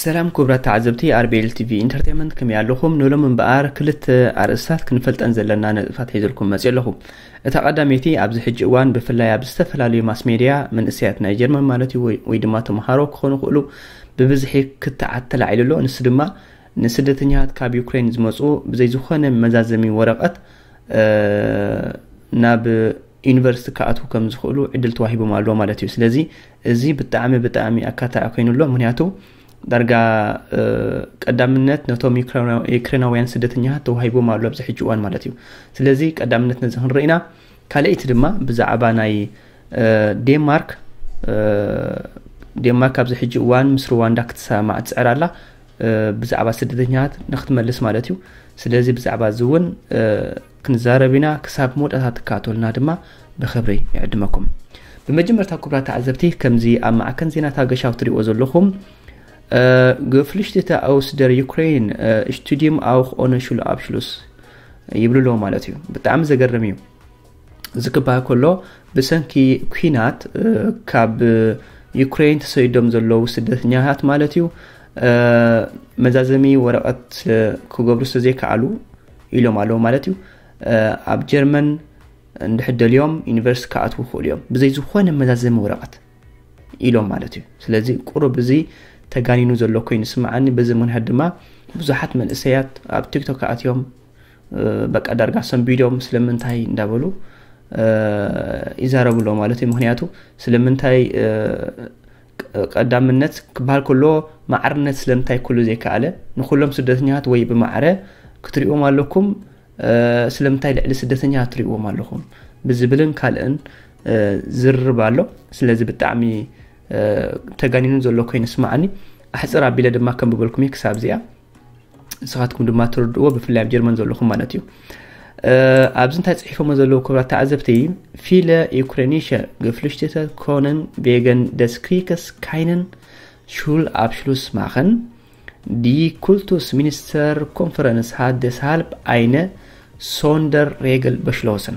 ሰላም ክቡራት ተዓዘብቲ ኣርቤል ቲቪ ኢንተርቴንመንት፣ ከመይ ኣለኹም? ንሎም እምበኣር ክልተ ኣርእስታት ክንፈልጠን ዘለና ነጥብታት ሒዘልኩም መፅእ ኣለኹ። እታ ቀዳመይቲ፣ ኣብዚ ሕጂ እዋን ብፍላይ ኣብ ዝተፈላለዩ ማስ ሜድያ መንእሰያት ናይ ጀርመን ማለት እዩ፣ ወይ ድማ ተምሃሮ ክኾኑ ክእሉ፣ ብብዝሒ ክትዓት ተላዒሉ ኣሎ። ንሱ ድማ ንስደተኛታት ካብ ዩክሬን ዝመፁ ብዘይ ዝኾነ መዛዘሚ ወረቐት ናብ ዩኒቨርሲቲ ክኣትዉ ከም ዝኽእሉ ዕድል ተዋሂቦም ኣሎ ማለት እዩ። ስለዚ እዚ ብጣዕሚ ብጣዕሚ ኣካታዒ ኮይኑ ኣሎ። ምክንያቱ ዳርጋ ቀዳምነት ነቶም ዩክሬናውያን ስደተኛታት ተዋሂቦም ኣሎ ኣብዚ ሕጂ እዋን ማለት እዩ። ስለዚ ቀዳምነት ነዚ ክንርኢ ኢና። ካልኣይቲ ድማ ብዛዕባ ናይ ዴንማርክ፣ ዴንማርክ ኣብዚ ሕጂ እዋን ምስ ሩዋንዳ ክትሰማማዕ ትፅዕር ኣላ፣ ብዛዕባ ስደተኛታት ንክትመልስ ማለት እዩ። ስለዚ ብዛዕባ እዚ እውን ክንዛረብ ኢና። ክሳብ መወዳእታ ትከታተሉና ድማ ብክብሪ ይዕድመኩም። ብመጀመርታ ክቡራት ተዓዘብቲ፣ ከምዚ ኣብ ማዕከን ዜናታት ኣገሻዊ ትሪእዎ ዘለኹም፣ Geflüchtete aus der Ukraine, Studium auch ohne Schulabschluss ይብሉ ኣለዉ ማለት እዩ። ብጣዕሚ ዘገርም እዩ። እዚ ክበሃል ከሎ፣ ብሰንኪ ኲናት ካብ ዩክሬን ተሰዲዶም ዘለዉ ስደተኛታት ማለት እዩ፣ መዛዘሚ ወረቐት ክገብሩ ስለዘይከኣሉ ኢሎም ኣለዉ ማለት እዩ። ኣብ ጀርመን እንድሕር ደልዮም ዩኒቨርሲቲ ክኣትዉ ይኽእሉ እዮም፣ ብዘይ ዝኾነ መዛዘሚ ወረቐት ኢሎም ማለት እዩ። ስለዚ ቁሩብ እዚ ተጋኒኑ ዘሎ ኮይኑ ይስምዓኒ። በዚ ምኽንያት ድማ ብዙሓት መንእሰያት ኣብ ቲክቶክ ኣትዮም በቃ ዳርጋ ሰንቢዶም ስለምንታይ እንዳበሉ ይዛረቡ ኣለዉ ማለት እዩ። ምኽንያቱ ስለምንታይ ቀዳምነት ክበሃል ከሎ ማዕርነት ስለምንታይ ኩሉ ዘይከኣለ፣ ንኩሎም ስደተኛታት ወይ ብማዕረ ክትሪእዎም ኣለኩም፣ ስለምንታይ ልዕሊ ስደተኛታት ትሪእዎም ኣለኹም ብዝብልን ካልእን ዝርርብ ኣሎ። ስለዚ ብጣዕሚ ተጋኒኑ ዘሎ ኮይኑ ይስምዓኒ። ኣሕፅር ኣቢለ ድማ ከንብበልኩም እየ ክሳብ እዚኣ፣ ንስኻትኩም ድማ ትርድእዎ፣ ብፍላይ ኣብ ጀርመን ዘለኹም ማለት እዩ። ኣብዚ እንታይ ፅሒፎሞ ዘለዉ ክቡራት ተዓዘብቲ፣ Viele ukrainische Geflüchtete können wegen des Krieges keinen Schulabschluss machen. Die Kultusministerkonferenz hat deshalb eine Sonderregel beschlossen.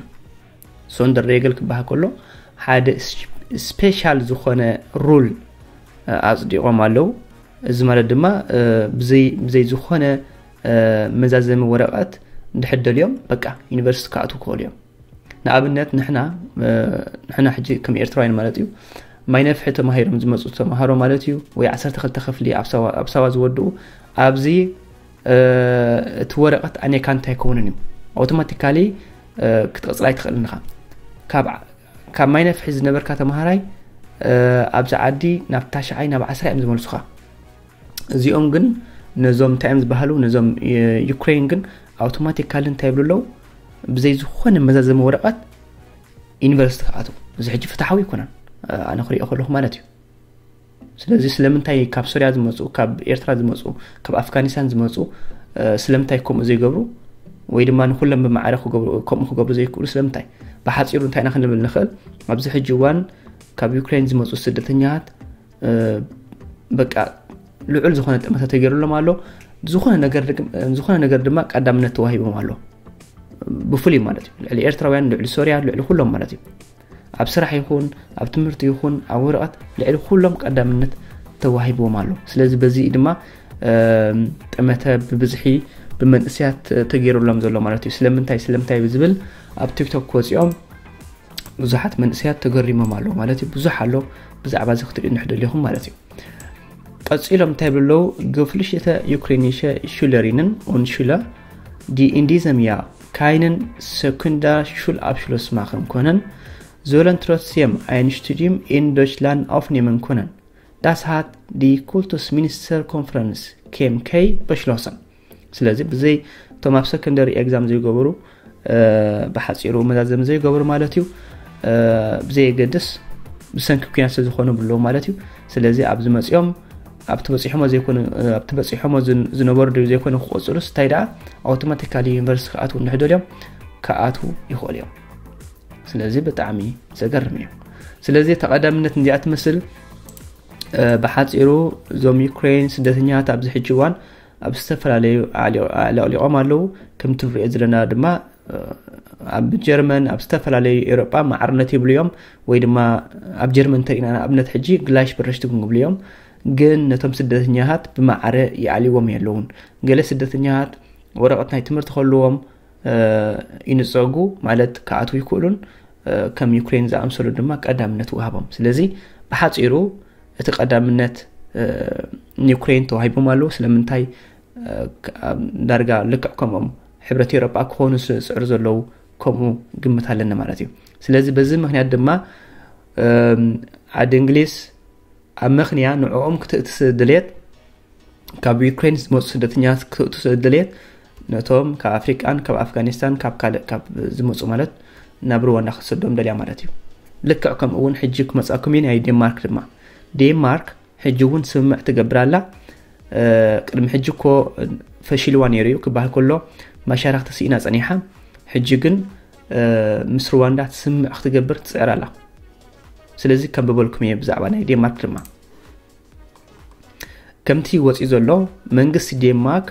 Sonderregel ክበሃል ከሎ ሓደ ስፔሻል ዝኾነ ሩል ኣፅዲቖም ኣለዉ። እዚ ማለት ድማ ብዘይ ዝኾነ መዛዘሚ ወረቐት እንድሕር ደልዮም በቃ ዩኒቨርሲቲ ክኣትዉ ክኽእሉ እዮም። ንኣብነት ንሕና ንሕና ሕጂ ከም ኤርትራውያን ማለት እዩ፣ ማይ ነፍሒ ተማሂሮም ዝመፁ ተምሃሮ ማለት እዩ፣ ወይ ዓሰርተ ክልተ ክፍሊ ኣብ ሳዋ ዝወድኡ፣ ኣብዚ እቲ ወረቐት ኣኔካ እንታይ ይከውንን እዩ፣ ኣውቶማቲካሊ ክትቕፅል ኣይትኽእልን ኢኻ። ካብ ማይ ነፍሒ ዝነበርካ ተምሃራይ ኣብዚ ዓዲ ናብ ታሽዓይ ናብ ዓስራ እዮም ዝመልሱኻ። እዚኦም ግን ነዞም እንታይ እዮም ዝበሃሉ፣ ነዞም ዩክሬን ግን ኣውቶማቲካሊ እንታይ ይብሉ ኣለዉ፣ ብዘይ ዝኾነ መዛዘሚ ወረቐት ዩኒቨርሲቲ ክኣትዉ። እዚ ሕጂ ፍትሓዊ ኣይኮነን፣ ኣነ ክሪኦ ከለኹ ማለት እዩ። ስለዚ ስለምንታይ ካብ ሶርያ ዝመፁ፣ ካብ ኤርትራ ዝመፁ፣ ካብ ኣፍጋኒስታን ዝመፁ ስለምንታይ ከምኡ ዘይገብሩ፣ ወይ ድማ ንኩሎም ብማዕረ ከምኡ ክገብሩ ዘይክእሉ ስለምንታይ? ብሓፂሩ እንታይ ኢና ክንብል ንኽእል? ኣብዚ ሕጂ እዋን ካብ ዩክሬን ዝመፁ ስደተኛታት በቃ ልዑል ዝኾነ ጠመተ ተገይሩሎም ኣሎ። ዝኾነ ነገር ድማ ቀዳምነት ተዋሂቦም ኣሎ፣ ብፍሉይ ማለት እዩ፣ ልዕሊ ኤርትራውያን፣ ልዕሊ ሶርያ፣ ልዕሊ ኩሎም ማለት እዩ። ኣብ ስራሕ ይኹን ኣብ ትምህርቲ ይኹን ኣብ ወረቐት ልዕሊ ኩሎም ቀዳምነት ተዋሂብዎም ኣሎ። ስለዚ በዚ ድማ ጠመተ ብብዝሒ ብመንእሰያት ተገይሩሎም ዘሎ ማለት እዩ። ስለምንታይ ስለምንታይ ብዝብል ኣብ ቲክቶክ ክወፂኦም ብዙሓት መንእሰያት ተገሪሞም ኣለዉ ማለት እዩ። ብዙሕ ኣሎ፣ ብዛዕባ እዚ ክትሪኡ እንድሕር ደሊኹም ማለት እዩ። ቀፂሎም እንታይ ይብሉ ኣለዉ? Geflüchtete ukrainische Schülerinnen und Schüler, die in diesem Jahr keinen Sekundarschulabschluss machen können, sollen trotzdem ein Studium in Deutschland aufnehmen können. Das hat die Kultusministerkonferenz K M K beschlossen. ስለዚ ብዘይ እቶም ኣብ ሰከንደሪ ኤግዛም ዘይገበሩ፣ ብሓፂሩ መዛዘሚ ዘይገበሩ ማለት እዩ፣ ብዘየገድስ ብሰንኪ ኩናት ስለዝኾኑ ብለዉ ማለት እዩ። ስለዚ ኣብዚ መፂኦም ኣብቲ በፂሖሞ ዘይኮኑ ኣብቲ በፂሖሞ ዝነበሩ ድዩ ዘይኮኑ ክቆፅሉስ እንታይ ደኣ ኣውቶማቲካሊ ዩኒቨርሲቲ ክኣትዉ እንድሕር ደልዮም ክኣትዉ ይኽእሉ እዮም። ስለዚ ብጣዕሚ ዘገርም እዩ። ስለዚ ተቐዳምነት እንዚኣ ትመስል። ብሓፂሩ እዞም ዩክሬን ስደተኛታት ኣብዚ ሕጂ እዋን ኣብ ዝተፈላለዩ ኣዕሊቖም ኣለዉ። ከምቲ ንሪኦ ዘለና ድማ ኣብ ጀርመን ኣብ ዝተፈላለዩ ኤውሮጳ ማዕርነት ይብሉ እዮም፣ ወይ ድማ ኣብ ጀርመን እንተሪእና ንኣብነት ሕጂ ግላሽ በረሽትጉን ይብሉ እዮም። ግን ነቶም ስደተኛታት ብማዕረ ይኣልዎም የለውን። ገለ ስደተኛታት ወረቐት ናይ ትምህርቲ ከለዎም ይንጸጉ፣ ማለት ክኣትዉ ይክእሉን ከም ዩክሬን ዝኣምሰሉ ድማ ቀዳምነት ወሃቦም። ስለዚ ብሓጺሩ እቲ ቀዳምነት ንዩክሬን ተዋሂቦም ኣለዉ። ስለምንታይ? ዳርጋ ልክዕ ከምኦም ሕብረት ኤውሮጳ ክኾኑ ዝጽዕሩ ዘለዉ ከምኡ ግምት ኣለኒ ማለት እዩ። ስለዚ በዚ ምክንያት ድማ ዓዲ እንግሊዝ ኣብ ምኽንያ ንዕኦም ክትእትስ ድልየት፣ ካብ ዩክሬን ዝመፁ ስደተኛታት ክትእትስ ድልየት፣ ነቶም ካብ ኣፍሪቃን ካብ ኣፍጋኒስታን ካብ ካልእ ካብ ዝመፁ ማለት ናብ ሩዋንዳ ክትሰዶም ደልያ ማለት እዩ። ልክዕ ከምኡ እውን ሕጂ ክመፃኩም እዩ ናይ ዴንማርክ ድማ። ዴንማርክ ሕጂ እውን ስምምዕ ትገብር ኣላ። ቅድሚ ሕጂ እኮ ፈሺልዋ ነይሩ እዩ ክበሃል ከሎ መሻርክቲ ስኢና ፀኒሓ። ሕጂ ግን ምስ ሩዋንዳ ስምምዕ ክትገብር ትፅዕር ኣላ። ስለዚ ከም በበልኩም እየ ብዛዕባ ናይ ዴንማርክ ድማ። ከምቲ ወፂ ዘሎ መንግስቲ ዴንማርክ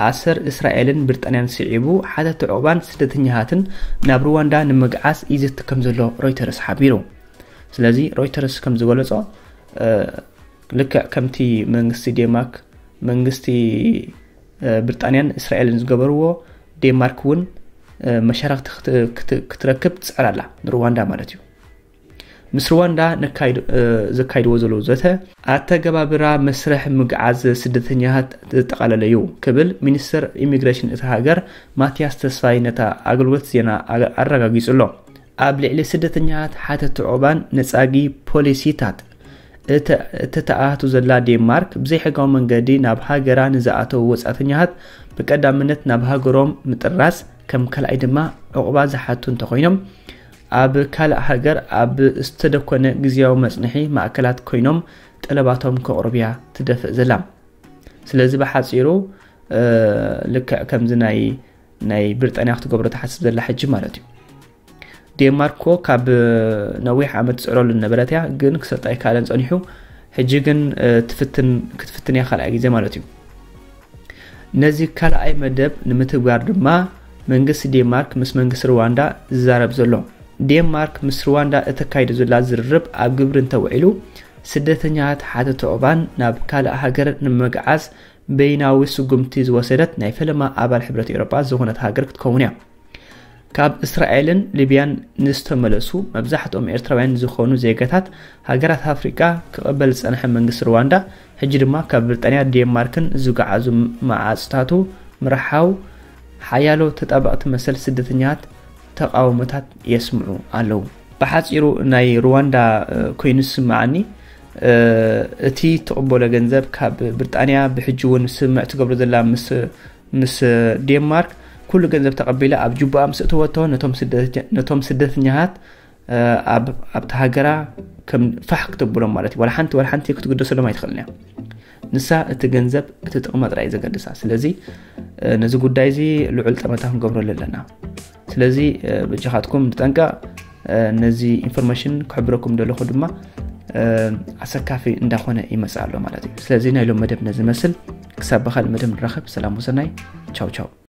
ኣሰር እስራኤልን ብሪጣንያን ስዒቡ ሓተቲ ዑቕባን ስደተኛታትን ናብ ሩዋንዳ ንምግዓዝ ይዝቲ ከም ዘሎ ሮይተርስ ሓቢሩ። ስለዚ ሮይተርስ ከም ዝገለጾ ልክዕ ከምቲ መንግስቲ ዴንማርክ መንግስቲ ብሪጣንያን እስራኤልን ዝገበርዎ ዴንማርክ እውን መሻርክቲ ክትረክብ ትፅዕር ኣላ ንሩዋንዳ ማለት እዩ። ምስ ሩዋንዳ ዘካይድዎ ዘለዉ ዘተ ኣተገባብራ መስርሕ ምግዓዝ ስደተኛታት ዘጠቓለለ እዩ ክብል ሚኒስትር ኢሚግሬሽን እታ ሃገር ማቲያስ ተስፋይ ነታ ኣገልግሎት ዜና ኣረጋጊጹ ኣሎ። ኣብ ልዕሊ ስደተኛታት ሓተቲ ዑቕባን ነጻጊ ፖሊሲታት እተተኣቱ ዘላ ዴንማርክ ብዘይሕጋዊ መንገዲ ናብ ሃገራ ንዝኣተዉ ወጻእተኛታት ብቀዳምነት ናብ ሃገሮም ምጥራዝ ከም ካልኣይ ድማ ዑቕባ ዝሓቱ እንተኾይኖም ኣብ ካልእ ሃገር ኣብ ዝተደኮነ ግዝያዊ መጽንሒ ማእከላት ኮይኖም ጠለባቶም ከቕርቡ እያ ትደፍእ ዘላ። ስለዚ ብሓጺሩ ልክዕ ከምዚ ናይ ናይ ብሪጣንያ ክትገብሮ ትሓስብ ዘላ ሕጂ ማለት እዩ። ዴንማርክ እኮ ካብ ነዊሕ ዓመት ትፅዕረሉ ዝነበረት እያ፣ ግን ክሰጣ ኣይከኣለን ፀኒሑ። ሕጂ ግን ክትፍትን ክትፍትን እያ ካልኣይ ግዜ ማለት እዩ። ነዚ ካልኣይ መደብ ንምትግባር ድማ መንግስቲ ዴንማርክ ምስ መንግስቲ ሩዋንዳ ዝዛረብ ዘሎ። ዴንማርክ ምስ ሩዋንዳ እተካይዶ ዘላ ዝርርብ ኣብ ግብሪ እንተውዒሉ ስደተኛታት ሓተቲ ዑቕባን ናብ ካልእ ሃገር ንምግዓዝ በይናዊ ስጉምቲ ዝወሰደት ናይ ፈለማ ኣባል ሕብረት ኤውሮጳ ዝኾነት ሃገር ክትከውን እያ። ካብ እስራኤልን ሊብያን ንዝተመለሱ መብዛሕትኦም ኤርትራውያን ዝኾኑ ዜጋታት ሃገራት ኣፍሪቃ ክቕበል ዝጸንሐ መንግስቲ ሩዋንዳ፣ ሕጂ ድማ ካብ ብሪጣንያ ዴንማርክን ዝጓዓዙ መዓጽታቱ ምርሓው ሓያሎ ተጣበቕቲ መሰል ስደተኛታት ተቓውሞታት የስምዑ ኣለዉ። ብሓጺሩ ናይ ሩዋንዳ ኮይኑ ዝስምዓኒ እቲ ትቕበሎ ገንዘብ ካብ ብሪጣንያ ብሕጂ እውን ስምምዕ ትገብሮ ዘላ ምስ ምስ ዴንማርክ ኩሉ ገንዘብ ተቐቢላ ኣብ ጅቡኣ ምስ እተወቶ ነቶም ስደተኛታት ኣብቲ ሃገራ ከም ፋሕ ክተብሎም ማለት እዩ። ዋላ ሓንቲ ዋላ ሓንቲ ክትግደሰሎም ኣይትኽእልን እያ። ንሳ እቲ ገንዘብ እቲ ጥቕማ ጥራይ እዩ ዘገድሳ። ስለዚ ነዚ ጉዳይ እዚ ልዑል ጠመታ ክንገብረሉ ኣለና። ስለዚ በጃኻትኩም ንጠንቀቕ። ነዚ ኢንፎርሜሽን ክሕብረኩም ደለኹ ድማ ኣሰካፊ እንዳኾነ ይመጽእ ኣሎ ማለት እዩ። ስለዚ ናይ ሎም መደብ ነዚ መስል። ክሳብ ብኻልእ መደብ ንራኸብ። ሰላም ወሰናይ። ቻው ቻው።